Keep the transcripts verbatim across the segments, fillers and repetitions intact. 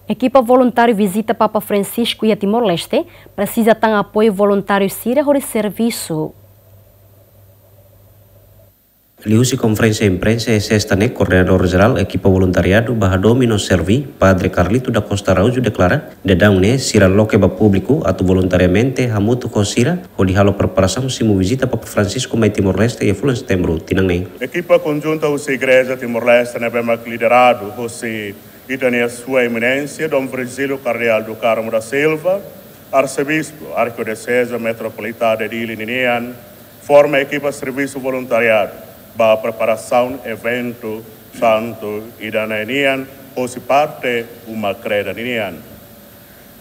Ekipa voluntáriu vizita Papa Francisco iha Timor-Leste presiza tan apoiu voluntáriu sira hodi servisu. Liuhusi konferénsia imprensa iha sesta ne'e, koordenadór jerál ekipa voluntariadu ba hadomi no servi, Padre Carlito da Costa Araújo, deklara, daudaun ne'e sira loke ba públiku atu voluntariamente hamutuk ho sira hodi halo preparasaun simu vizita Papa Francisco mai Timor-Leste iha fulan Setembru tinan ne'e. Ekipa konjunta husi Igreja Timor-Leste ne'ebé mak lideradu husi ita-nia Sua Eminénsia Dom Virgílio Cardeal do Carmo da Silva, Arsebispu Arkidioseze Metropolitana de Dili ninian, forma ekipa servisu voluntariadu ba preparasaun eventu santu ida-ne'e nian, hosi parte uma kreda ninian.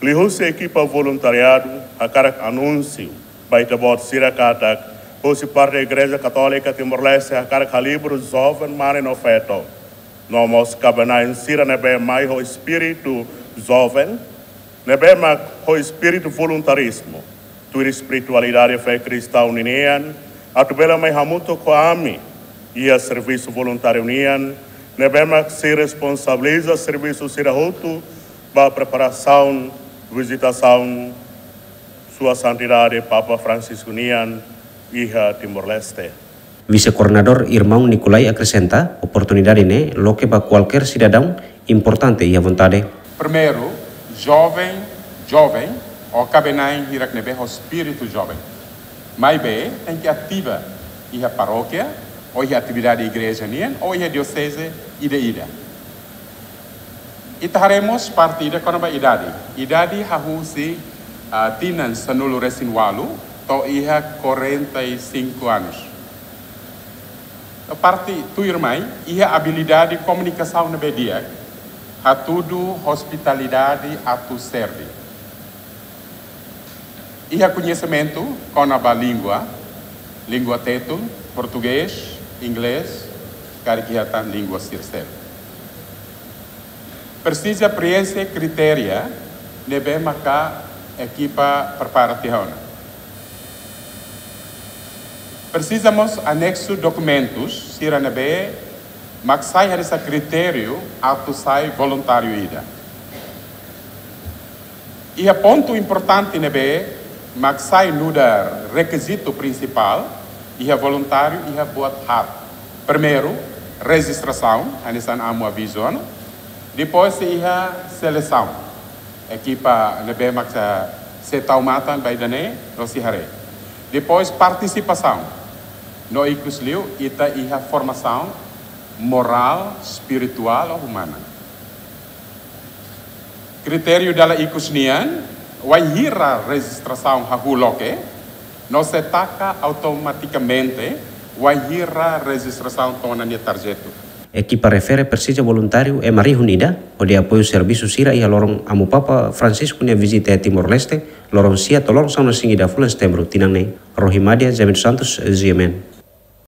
Liuhusi ekipa voluntariadu, hakarak anúnsiu ba ita-boot sira katak, hosi parte Igreja Katólika Timor-Leste hakarak halibur joven mane no feto, no mós kaben-na'in sira ne'ebé mai ho espíritu joven, ne'ebé mak ho espíritu voluntarizmu, tuir espiritualidade fé kristaun ninian, atu bele mai hamutuk ho ami iha servisu voluntáriu nian, ne'ebé mak sei responsabiliza servisu sira hotu ba preparasaun vizitasaun Sua Santidade Papa Francisco nian iha Timor-Leste. Vise-koordenadór Irmaun Nikolai akresenta, oportunidade ne'e loke ba kualkér sidadaun importante iha vontade. Primeiru, joven, joven, ou kaben-na'in hirak ne'ebé ho espíritu joven. Maibé, tenke ativa iha parókia, ou iha atividade igreja nian, ou iha dioseze ida-ida. Ita haree mós parte ida kona-ba idade. Idade hahú husi, ah, tinan sanulu-resin-ualu to'o iha quarenta e cinco anos. Parte tuirmai, iha abilidade komunikasaun ne'ebé di'ak, hatudu ospitalidade atu servi. Iha koñesimentu kona-ba língua, língua tetun, portugés, inglés, karik iha tan língua sira seluk. Presiza prienxe kritéria ne'ebé maka ekipa prepara tiha ona. Presiza mós aneksu dokumentus sira ne'ebé mak sai hanesan kritériu atu sai voluntáriu ida. Iha pontu importante ne'ebé mak sai nu'udar rekizitu prinsipál iha voluntáriu iha buat haat. Primeiru, rejistrasaun, hanesan amu avizu ona. Depois iha selesaun. Ekipa ne'ebé mak sei tau matan ba ida-ne'e, no sei haree. Depois partisipasaun. No ikusliu ita iha formasaun morál, espirituál ou umana. Kritériu dala ikus nian, wainhira rejistrasaun hahú loke, no sei taka automatikamente wainhira rejistrasaun to'o ona nia tarjetu. Ekipa refere presiza voluntáriu ema rihun ida, hodi apoiu servisu sira iha loron Amu Papa Francisco nia vizita iha Timor-Leste, loron sia to'o loron sanulu-resin-ida fulan Setembru tinan ne'e. Rohimadia James Santos, G M N.